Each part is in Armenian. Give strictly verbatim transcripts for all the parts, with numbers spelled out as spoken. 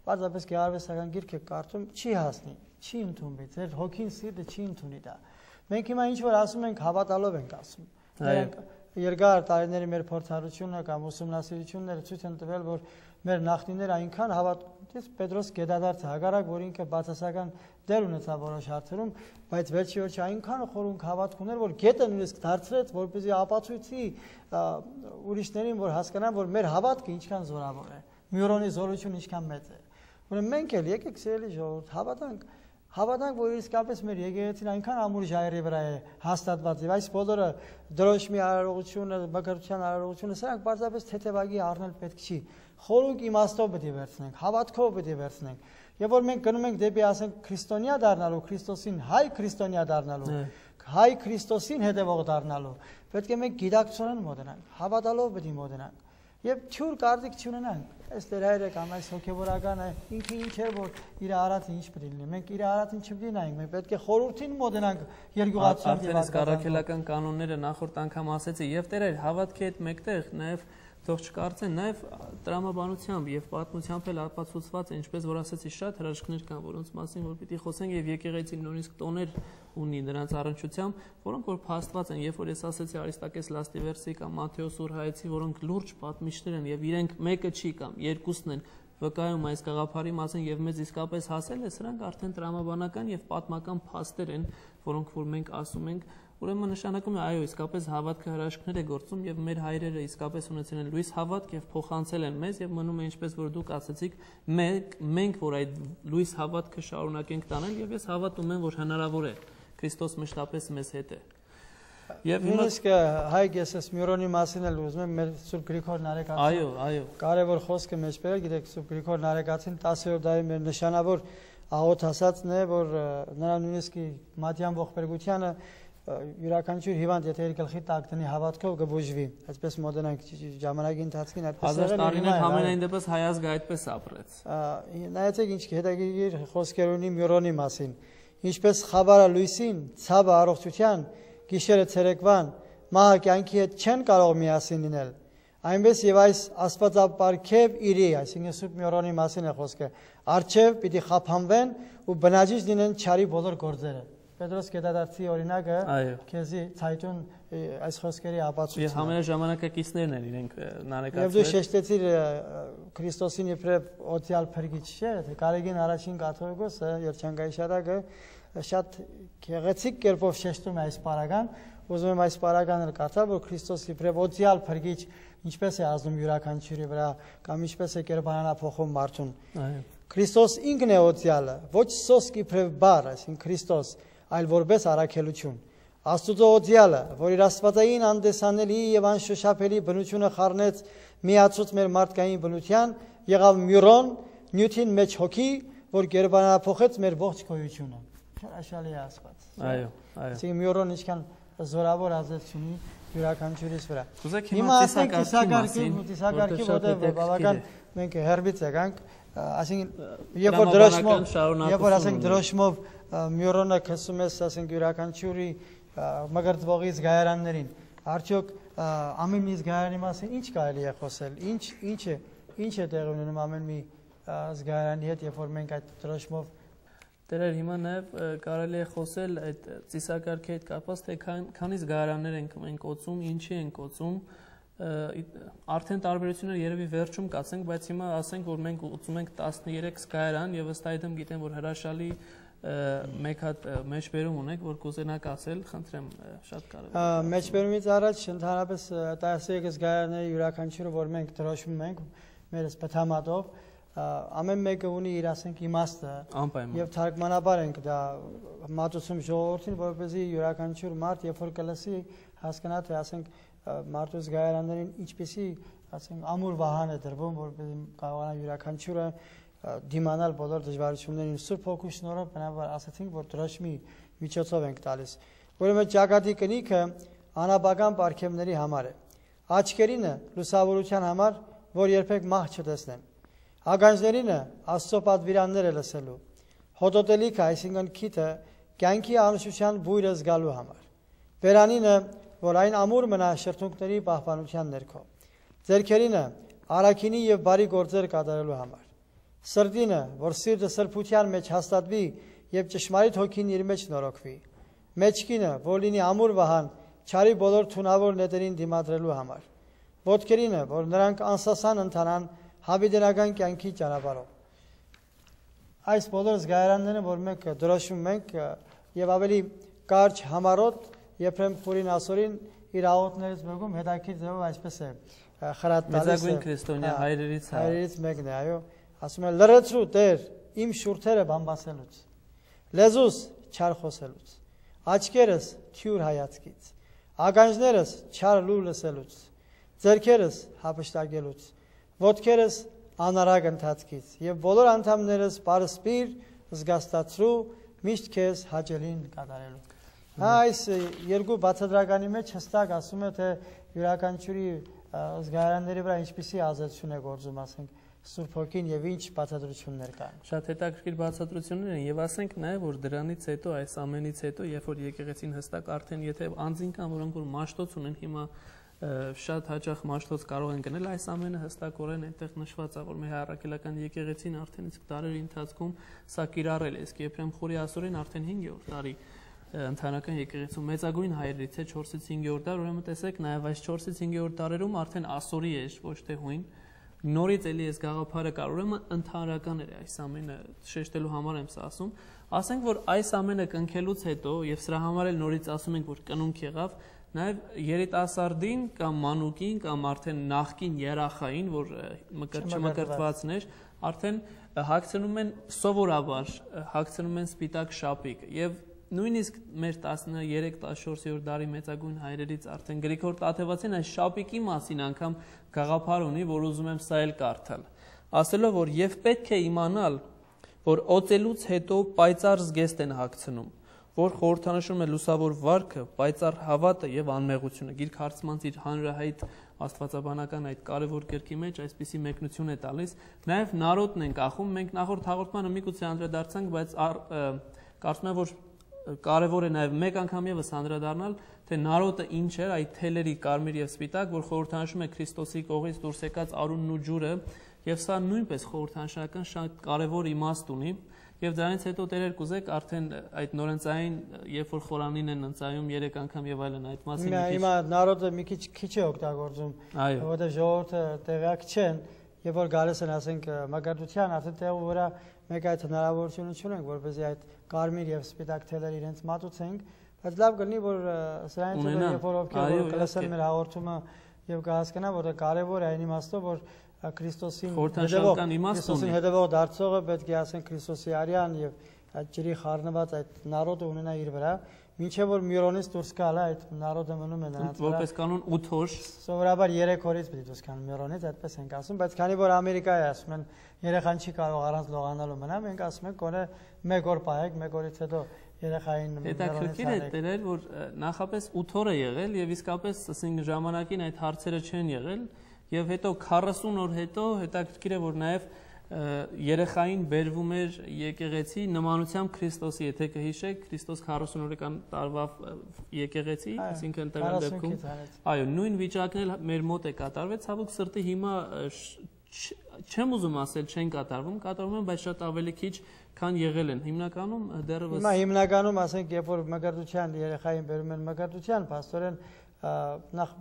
պարզապես գեղարվեստական գիրքը կարդում չի հասնի, չի ընդունվի, ձեր հոգին սիրտը չի ընդունի դա։ Մենք հիմա ինչ որ ասում ենք, հավատալով ենք ասում։ Երկար տարիների մեր փորձառությունը կամ ուսումնասիրությունները ցույց են տվել, որ մեր նախնիները այնքան հավատում, Պետրոս Գետադարձը հակառակ, որ ինքը բացասական դեր ունեցավ որոշ հարցերում, բայց վերջի վերջի այնքան խորունկ հավատք ուներ, որ գետը նույնիսկ դարձրեց, որպեսզի ապացույցի ուրիշներին, որ հասկանան, որ մեր հավատքը ինչքան զորավոր է, Մյուրոնի զորությունը ինչքան մեծ է։ Ուրեմն մենք էլ եկեք սիրելի ժողովուրդ, հավատանք, հավատանք, որ իսկապես մեր եկեղեցին այնքան ամուր ժայռի վրա է հաստատված, եւ այս բոլորը դրոշմի արարողությունը, բկրության արարողությունը, սրանք պարզապես թեթևագի առնել պետք չի։ Խորունկ իմաստով պետք է վերցնենք, հավատքով պետք է վերցնենք։ Եվ որ մենք գնում ենք դեպի, ասենք, քրիստոնյա դառնալու, Քրիստոսին հայ քրիստոնյա դառնալու, հայ Քրիստոսին հետևող դառնալու, պետք է մենք գիտակցորեն մոտենանք, հավատալով պետք է մոտենանք։ Եվ թյուր կարծիք չունենանք, այս Տեր հայրը կամ այս հոգևորականը ինքը ինչ է, որ իր արածը ինչ պետք է լինի։ Մենք իր արածին չպետք է նայենք, մենք պետք է խորհրդին մոտենանք երկյուղացիան եւ առաքելական կանոնները նախորդ անգամ ասեցի, եւ Տեր հայր հավատքի հետ մեկտեղ նաեւ թող չկարծեն, նաև տրամաբանությամբ եւ պատմությամբ էլ ապացուցված է, ինչպես որ ասեցի, շատ հրաշքներ կան, որոնց մասին որ պիտի խոսենք, եւ եկեղեցին նույնիսկ տոներ ունի նրանց առնչությամբ, որոնք որ փաստված են, երբ որ ես ասեցի Արիստակես Լաստիվերսի կամ Մատթեոս Ուրհայեցի, որոնք լուրջ պատմիչներ են եւ իրենք մեկը չի կամ երկուսն են վկայում այս գաղափարի մասին եւ մեզ իսկապես հասել է, սրանք արդեն տրամաբանական եւ պատմական փաստեր են, որոնք որ մենք ասում ենք։ Ուրեմն նշանակում է, այո, իսկապես հավատքը հրաշքներ է գործում եւ մեր հայրերը իսկապես ունեցել են լույս հավատք եւ փոխանցել են մեզ եւ մնում է ինչպես որ դուք ասացիք, մենք մենք որ այդ լույս հավատքը շարունակենք տանել եւ ես հավատում եմ, որ հնարավոր է Քրիստոս մշտապես մեզ հետ է։ Եվ նույնիսկ Հայկ ես այս Մյուրոնի մասին էլ ուզում եմ մեր Սուրբ Գրիգոր Նարեկացին։ Այո, այո։ Կարևոր խոսքը մեջ բերել, գիտեք, Սուրբ Գրիգոր Նարեկացին տասերորդ դարի մեր նշանավոր աղոթ ասածն է, որ նրա նույնիսկ Մատյան ողբերգությանը յուրաքանչյուր հիվանդ եթե իր գլխի տակ դնի հավատքով կբուժվի, այսպես մոդենանք ժամանակի ընթացքին այդպես եղել է։ Տարիներ համենայն դեպս հայազգը այդպես ապրեց։ Նայեցեք ինչ հետաքրքիր խոսքեր ունի Մյուրոնի մասին։ Ինչպես խավարը լույսին, ցավը առողջության, գիշերը ցերեկվան, մահը կյանքի հետ չեն կարող միասին լինել։ Այնպես եւ այս աստվածապարգև իրի, այսինքն Սուրբ Մյուրոնի մասին է խոսքը, արչեւ պիտի խափանվեն ու բնաջիջ լինեն չարի բոլոր գործերը։ Պետրոս Գետադարձի օրինակը քեզի ցայտուն այս խոսքերի ապացույցն է։ Եվ համաժամանակակիցներն են իրենք նարեկացրել։ Եվ դու շեշտեցիր Քրիստոսին իբրև օծյալ փրկիչ, չէ՞, թե Կարեգին առաջին կաթողիկոսը Երջանկայի շարակը շատ գեղեցիկ կերպով շեշտում է այս պարագան, ուզում եմ այս պարագանը կարդալ, որ Քրիստոսը իբրև օծյալ փրկիչ ինչպես է ազդում յուրաքանչյուրի վրա կամ ինչպես է կերպարանափոխում մարդուն։ Քրիստոս ինքն է օծյալը, ոչ սոսկ իբրև բառ, այսինքն Քրիստոս, այլ որպես առաքելություն։ Աստուծո օծյալը, որ իր աստվածային անդեսանելի եւ անշոշափելի բնությունը խառնեց միացուց մեր մարդկային բնության, եղավ Մյուրոն, նյութին մեջ հոգի, որ կերպարանափոխեց մեր ողջ գոյությունը։ Հրաշալի է Աստված։ Այո, այո։ Այսինքն Մյուրոն ինչքան զորավոր ազդեցություն ունի յուրաքանչյուրիս վրա։ Հիմա ասենք ծիսակարգի, ծիսակարգի որտեղ բավական մենք հերբից եկանք, այսինքն երբ որ դրոշմով, երբ որ ասենք դրոշմով Մյուրոնը քսում ես, ասենք յուրաքանչյուրի մգրտվողի զգայարաններին, արդյոք ամեն մի զգայարանի մասին ինչ կարելի է խոսել, ինչ ինչ է ինչ է տեղի ունենում ամեն մի զգայարանի հետ, երբ որ մենք այդ դրոշմով Տերեր հիմա նաև կարելի է խոսել այդ ծիսակարգի հետ կապված, թե քանի զգայարաններ ենք մենք օծում, ինչի ենք օծում, արդեն տարբերությունները երևի վերջում կասենք, բայց հիմա ասենք, որ մենք օծում ենք տասներեք զգայարան եւ ըստ այդմ գիտեմ, որ հրաշալի մեկ հատ մեջբերում ունեք, որ կուզենաք ասել, խնդրեմ, շատ կարևոր է։ Մեջբերումից առաջ ընդհանրապես տասներեք զգայարանների յուրաքանչյուրը, որ մենք դրոշմում ենք մեր սպթամատով, ամեն մեկը ունի իր ասենք իմաստը եւ թարգմանաբար ենք դա մատուցում ժողովրդին, որպեսզի յուրաքանչյուր մարդ երբ որ կլսի հասկանա թե ասենք մարդու զգայարաններին ինչպեսի ասենք ամուր վահան է դրվում, որպեսզի կարողանա յուրաքանչյուրը դիմանալ բոլոր դժվարություններին։ Սուրբ Հոգու շնորհով բնավ ասացինք, որ դրոշմի միջոցով ենք տալիս։ Ուրեմն ճակատի կնիքը անաբական պարգևների համար է։ Աչքերինը լուսավորության համար, որ երբեք մահ չտեսնեն։ Ագանջներինը Աստծո պատվիրանները լսելու, հոտոտելիքը, այսինքն քիթը, կյանքի անուշության բույրը զգալու համար, վերանինը, որ այն ամուր մնա շրթունքների պահպանության ներքո, ձեռքերինը, առաքինի եւ բարի գործեր կատարելու համար, Սրտինը, որ սիրտը սրբության մեջ հաստատվի եւ ճշմարիտ հոգին իր մեջ նորոգվի։ Մեջքինը, որ լինի ամուր վահան, չարի բոլոր թունավոր նետերին դիմադրելու համար։ Ոտքերինը, որ նրանք անսասան ընթանան հավիտենական կյանքի ճանապարհով։ Այս բոլոր զգայարանները, որ մենք դրոշում ենք եւ ավելի կարճ համառոտ Եփրեմ Խուրին ասորին իր աղոթներից մեկում հետաքրքիր ձևով այսպես է խրատ տալիս։ Մեծագույն քրիստոնյա հայրերից հայրերից մեկն է, այո, ասում է լրացրու Տեր իմ շուրթերը բամբասելուց, լեզուս չար խոսելուց, աչքերս թյուր հայացքից, ականջներս չար լուր լսելուց, ձեռքերս հափշտակելուց, ոտքերս անարագ ընթացքից եւ բոլոր անդամներս պարսպիր զգաստացրու միշտ քեզ հաճելին կատարելու։ Այս երկու բացատրականի մեջ հստակ ասում է, թե յուրաքանչյուրի զգայարանների վրա ինչպիսի ազդեցություն է գործում, ասենք, Սուրբ Հոգին եւ ինչ բացատրություններ կան։ Շատ հետաքրքիր բացատրություններ են եւ ասենք նաեւ, որ դրանից հետո, այս ամենից հետո, երբ որ եկեղեցին հստակ արդեն եթե անձին կան, որոնք որ մաշտոց ունեն, հիմա շատ հաճախ մաշտոց կարող են գնել, այս ամենը հստակորեն այնտեղ նշված է, որ մեր առաքելական եկեղեցին արդեն իսկ տարերի ընթացքում սա կիրառել է, իսկ Եփրեմ Խուրի ասորին արդեն հինգերորդ տարի ընդհանրական եկեղեցու մեծագույն հայրերից է չորսից հինգերորդ դար, ուրեմն տեսեք նաև այս չորսից հինգերորդ դարերում արդեն ասորի է, ոչ թե հույն, նորից էլի այս գաղափարը կար, ուրեմն ընդհանրական էր այս ամենը շեշտելու համար եմ սա ասում, ասենք որ այս ամենը կնքելուց հետո եւ սրա համար էլ նորից ասում ենք որ կնունք եղավ, նաև երիտասարդին կամ մանուկին կամ արդեն նախկին երախային, որ չմկրտվածն էր, արդեն հագցնում են սովորաբար, հագցնում են սպիտակ շապիկ եւ նույնիսկ մեր տասներեք տասնչորսերորդ դարի մեծագույն հայրերից արդեն Գրիգոր Տաթևացին այս շապիկի մասին անգամ գաղափար ունի, որ ուզում եմ սա էլ կարդալ, ասելով որ եւ պետք է իմանալ, որ օծելուց հետո պայծառ զգեստ են հագցնում, որ խորհրդանշում է լուսավոր վարքը, պայծառ հավատը եւ անմեղությունը։ Գիրք Հարցմանց իր հանրահայտ աստվածաբանական այդ կարևոր գրքի մեջ այսպիսի մեկնություն է տալիս, նաեւ նարոտն են կախում, մենք նախորդ հաղորդմանը միգուցե անդրադարձանք, բայց կարծում եմ որ կարևոր է նաև մեկ անգամ եւս անդրադառնալ, թե նարոտը ինչ էր, այդ թելերի կարմիր եւ սպիտակ, որ խորհրդանշում է Քրիստոսի կողից դուրս եկած արունն ու ջուրը, եւ սա նույնպես խորհրդանշական շատ կարևոր իմաստ ունի, եւ դրանից հետո Տերեր կուզեք արդեն այդ նորընծային, երբ որ խորանին են ընծայում երեք անգամ եւ այլն այդ մասին մի քիչ։ Հիմա նարոտը մի քիչ քիչ է օգտագործում, որովհետեւ ժողովուրդը տեղյակ չեն, եւ որ գալիս են, ասենք, մակարդության արդեն տեղը վրա մեկ այդ հնարավորությունը չունենք, որպեսզի այդ կարմիր եւ սպիտակ թելերը իրենց մատուցենք, բայց լավ կլինի, որ սրանից հետո երբ որ ովքեր կլսեն մեր հաղորդումը եւ կհասկանան, որ կարեւոր է այն իմաստով, որ Քրիստոսին հետևող Քրիստոսին հետևող դարձողը պետք է ասեն Քրիստոսի արյան եւ այդ ջրի խառնված այդ նարոտը ունենա իր վրա, մինչեւ որ Միրոնից դուրս գալը այդ նարոտը մնում է նրանց վրա։ Որպես կանոն ութ օր, սովորաբար երեք օրից պետք է դուրս գան Միրոնից, այդպես ենք ասում, բայց քանի որ Ամերիկայի ասում են երեխան չի կարող առանց լողանալու մնալ, մենք ասում ենք գոնե մեկ օր պահեք, մեկ օրից հետո երեխային Միրոնից։ Հետաքրքիր է Տերեր, որ նախապես ութ օր է եղել եւ իսկապես ասենք ժամանակին այդ հարցերը չեն եղել եւ հետո քառասուն օր հետո հետաքրքիր է որ նաեւ երեխային բերվում էր եկեղեցի նմանությամբ Քրիստոսի, եթե կհիշեք, Քրիստոս քառասուն օրական տարվա եկեղեցի, այսինքն տվյալ դեպքում, այո, նույն վիճակն էլ մեր մոտ է կատարվել, ցավոք սրտի հիմա չեմ ուզում ասել չեն կատարվում, կատարվում են, բայց շատ ավելի քիչ, քան եղել են։ Հիմնականում դեռևս Հիմա հիմնականում ասենք, երբ որ մկրտության երեխային բերում են մկրտության, փաստորեն նախ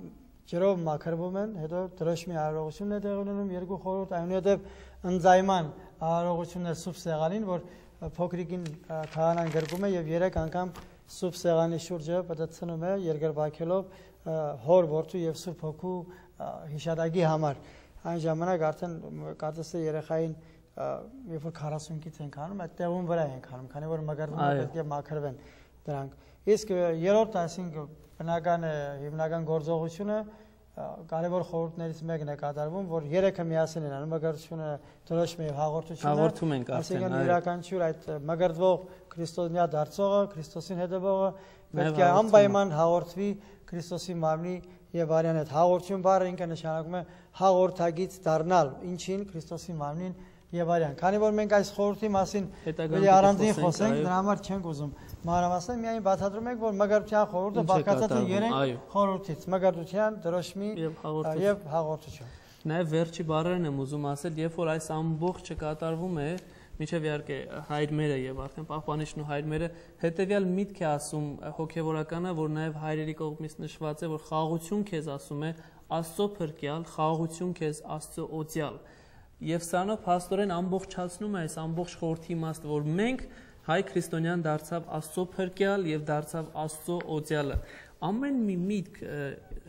ջրով մաքրվում են, հետո դրոշմի արարողությունն է տեղի ունենում, երկու խորհուրդ, այնուհետև ընձայման արարողությունն է սուրբ սեղանին, որ փոքրիկին քահանան գրկում է եւ երեք անգամ սուրբ սեղանի շուրջը պատցնում է երկրպագելով հոր որդու եւ սուրբ հոգու հիշադակի համար։ Այն ժամանակ արդեն կարծես թե երեխային երբ որ քառասունից ենք անում, այդ տեղում վրա ենք անում, քանի որ մկրտումը պետք է մաքրվեն դրանք։ Իսկ երրորդ, այսինքն բնական հիմնական գործողությունը կարևոր խորհուրդներից մեկն է կատարվում, որ երեքը միասին են անում, մկրտությունը, դրոշմը եւ հաղորդությունը։ Հաղորդում ենք արդեն, այսինքն յուրաքանչյուր այդ մկրտվող քրիստոնյա դարձողը, Քրիստոսին հետևողը պետք է անպայման հաղորդվի Քրիստոսի մարմնի եւ արյան հետ։ Հաղորդություն բառը ինքը նշանակում է հաղորդագից դառնալ, ինչին Քրիստոսի մարմնին եւ արյան։ Քանի որ մենք այս խորհրդի մասին պետք է առանձին խոսենք, դրա համար չենք ուզում մանրամասն, միայն բացատրում ենք, որ մկրտության խորհուրդը բաղկացած է երեք խորհրդից՝ մկրտության, դրոշմի եւ հաղորդություն։ Նաև վերջի բառերն եմ ուզում ասել, երբ որ այս ամբողջը կատարվում է, միջև իհարկե հայրմերը եւ արդեն պահպանիչն ու հայրմերը հետեւյալ միտք է ասում հոգեվորականը, որ նաև հայրերի կողմից նշված է, որ խաղաղություն քեզ ասում է Աստծո փրկյալ, խաղաղություն քեզ Աստծո օծյալ։ Եվ սրանով փաստորեն ամբողջացնում է այս ամբողջ խորհրդի իմաստը, որ մենք հայ քրիստոնյան դարձավ Աստծո փրկյալ եւ դարձավ Աստծո օծյալը։ Ամեն մի միտք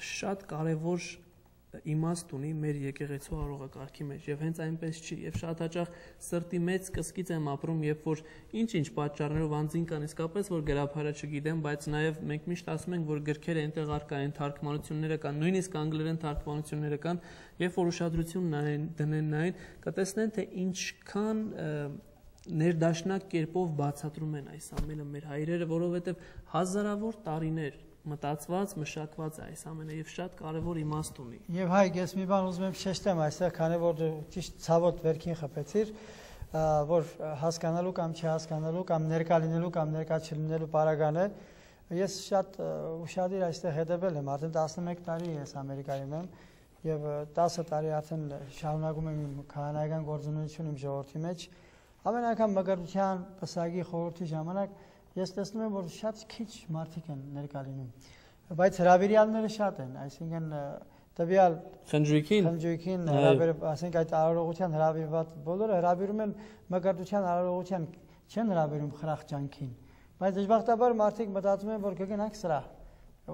շատ կարեւոր իմաստ ունի մեր եկեղեցու արողակարգի մեջ եւ հենց այնպես չի եւ շատ հաճախ սրտի մեծ կսկիծ եմ ապրում, երբ որ ինչ-ինչ պատճառներով անձին կան իսկապես որ գրաբարը չգիտեմ, բայց նաեւ մենք միշտ ասում ենք, որ գրքերը այնտեղ առկա են, թարգմանությունները կան, նույնիսկ անգլերեն թարգմանությունները կան, երբ որ ուշադրություն նայեն, դնեն նային, կտեսնեն թե ինչքան ներդաշնակ կերպով բացատրում են այս ամենը մեր հայրերը, որովհետեւ հազարավոր տարիներ մտածված, մշակված է այս ամենը եւ շատ կարեւոր իմաստ ունի։ Եվ հայ, ես մի բան ուզում եմ շեշտեմ այստեղ, քանի որ դու ճիշտ ցավոտ վերքին խփեցիր, որ հասկանալու կամ չհասկանալու կամ ներկա լինելու կամ ներկա չլինելու պարագան է, ես շատ ուշադիր այստեղ հետևել եմ, արդեն տասնմեկ տարի ես Ամերիկայում եմ եւ տասը տարի արդեն շարունակում եմ իմ քահանայական գործունեությունը իմ ժողովրդի մեջ, ամեն անգամ մկրտության պսակի խորհրդի ժամանակ ես տեսնում եմ, որ շատ քիչ մարդիկ են ներկա լինում, բայց հրավիրյալները շատ են, այսինքն տվյալ խնջույքին, խնջույքին հրավեր, ասենք այդ արարողության հրավիրված բոլորը հրավիրում են մկրտության արարողության, չեն հրավիրում խրախճանքին, բայց դժբախտաբար մարդիկ մտածում են, որ կգնանք սրա,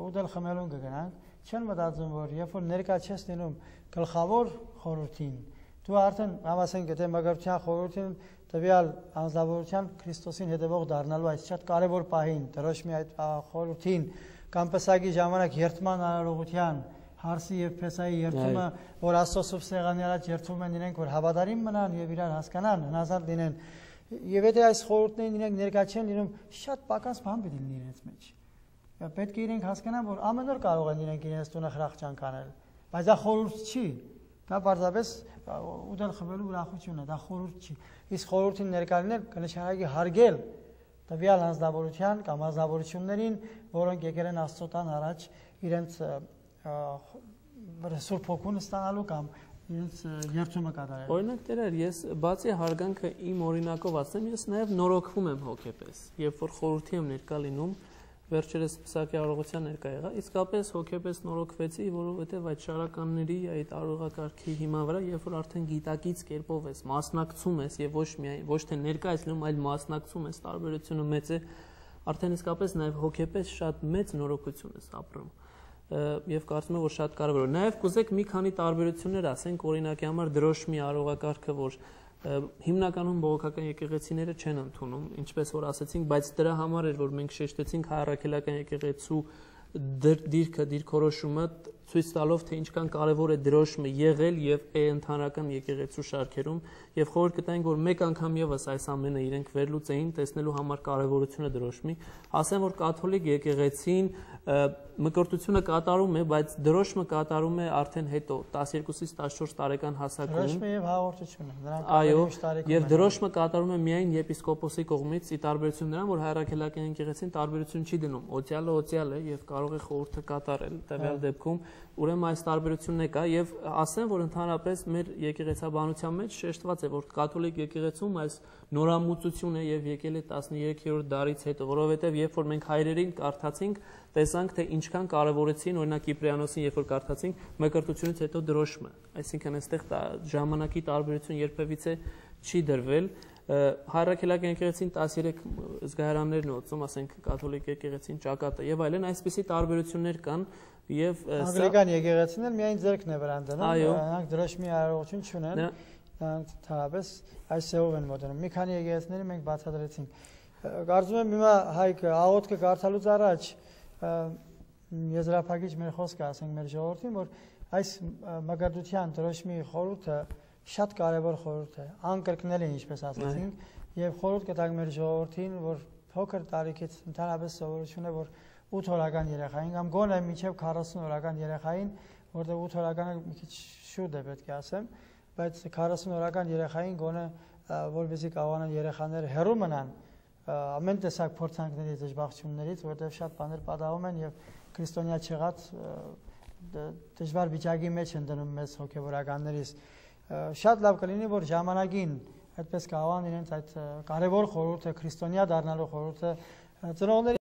ուտել խմելուն կգնանք, չեն մտածում, որ երբ որ ներկա չես լինում գլխավոր խորհրդին, դու արդեն ասենք եթե մկրտության խորհրդին տվյալ անձնավորության Քրիստոսին հետևող դառնալու այս շատ կարևոր պահին, դրոշմի այդ խորհրդին կամ պսակի ժամանակ երթման արարողության, հարսի եւ փեսայի երթումը, որ Աստծո սուրբ սեղանի առաջ երթում են իրենք, որ հավատարիմ մնան եւ իրար հասկանան, հնազանդ լինեն։ Եվ եթե այս խորհուրդներին իրենք ներկա չեն լինում, շատ պակաս բան պետք է լինի իրենց մեջ։ Պետք է իրենք հասկանան, որ ամեն օր կարող են իրենք իրենց տունը խրախճանք անել, բայց դա խորհուրդ չի։ Դա պարզապես ուտել խմելու ուրախություն է, դա խորհուրդ չի։ Իսկ խորհրդին ներկա լինել կնշանակի հարգել տվյալ անձնավորության կամ անձնավորություններին, որոնք եկել են Աստծո տան առաջ իրենց Սուրբ Հոգուն ստանալու կամ իրենց երթումը կատարել։ Օրինակ Տեր, ես բացի հարգանքը իմ օրինակով ասեմ, ես նաև նորոգվում եմ հոգեպես, երբ որ խորհրդի եմ ներկա լինում, վերջերս պսակի արարողության ներկա եղա, իսկապես հոգեպես նորոգվեցի, որովհետև այդ շարականների, այդ արարողակարգի հիման վրա, երբ որ արդեն գիտակից կերպով ես, մասնակցում ես եւ ոչ միայն ոչ թե ներկա ես լինում, այլ մասնակցում ես, տարբերությունը մեծ է, արդեն իսկապես նաև հոգեպես շատ մեծ նորոգություն ես ապրում։ Եվ կարծում եմ, որ շատ կարևոր է։ Նաև կուզեք մի քանի տարբերություններ ասենք, օրինակի համար դրոշմի արարողակարգը, որ հիմնականում բողոքական եկեղեցիները չեն ընդունում, ինչպես որ ասացինք, բայց դրա համար էր, որ մենք շեշտեցինք հայ առաքելական եկեղեցու դիրքը, դիրքորոշումը ցույց տալով, թե ինչքան կարևոր է դրոշմը եղել եւ ընդհանրական եկեղեցու շարքերում, եւ խորհուրդ կտայինք, որ մեկ անգամ եւս այս ամենը իրենք վերլուծեին, տեսնելու համար կարևորությունը դրոշմի, ասեմ, որ կաթոլիկ եկեղեցին մկրտությունը կատարում է, բայց դրոշմը կատարում է արդեն հետո տասներկուսից տասնչորս տարեկան հասակում։ Դրոշմը եւ հաղորդությունը, նրանք այո, եւ դրոշմը կատարում է միայն եպիսկոպոսի կողմից, ի տարբերություն նրան, որ հայրաքելական եկեղեցին տարբերություն չի դնում, օծյալը օծյալ է եւ կարող է խորհուրդը կատարել տվյալ դեպքում, ուրեմն այս տարբերությունն է կա եւ ասեմ, որ ընդհանրապես մեր եկեղեցաբանության մեջ շեշտված է, որ կաթոլիկ եկեղեցում այս նորամուծությունը եւ եկել է տասներեքերորդ դարից հետո, որովհետեւ երբ որ մենք հայրերին կարդացինք, տեսանք թե ինչքան կարևորեցին, օրինակ Կիպրիանոսին, երբ որ կարդացինք, մկրտությունից հետո դրոշմը, այսինքն այստեղ ժամանակի տարբերություն երբևիցե չի դրվել։ Հայրաքելական եկեղեցին տասներեք զգայարաններն օծում, ասենք կաթոլիկ եկեղեցին ճակատը եւ այլն, այսպիսի տարբերություններ կան եւ անգլիկան եկեղեցին միայն ձեռքն է վրան դնում, նրանք դրոշմի արարողություն չունեն, նրանք թարապես այս սեով են մոտենում։ Մի քանի եկեղեցիների մենք բացատրեցինք։ Կարծում եմ հիմա Հայկ աղոթքը կարդալուց առաջ եզրափակիչ մեր խոսքը ասենք մեր ժողովրդին, որ այս մկրտության դրոշմի խորհուրդը շատ կարևոր խորհուրդ է, անկրկնելի, ինչպես ասացինք, եւ խորհուրդ կտանք մեր ժողովրդին, որ փոքր տարիքից ընդհանրապես սովորություն է, որ ութ օրական երեխային կամ գոնե մինչև քառասուն օրական երեխային, որտեղ ութ օրականը մի քիչ շուտ է պետք է ասեմ, բայց քառասուն օրական երեխային գոնե որպեսզի կարողանան երեխաները հեռու մնան ամեն տեսակ փորձանքներից, դժբախտություններից, որտեղ շատ բաներ պատահում են եւ քրիստոնյա չեղած դժվար վիճակի մեջ են դնում մեզ հոգևորականներից, շատ լավ կլինի, որ ժամանակին այդպես կարողան իրենց այդ կարևոր խորհուրդը, քրիստոնյա դառնալու խորհուրդը ծնողների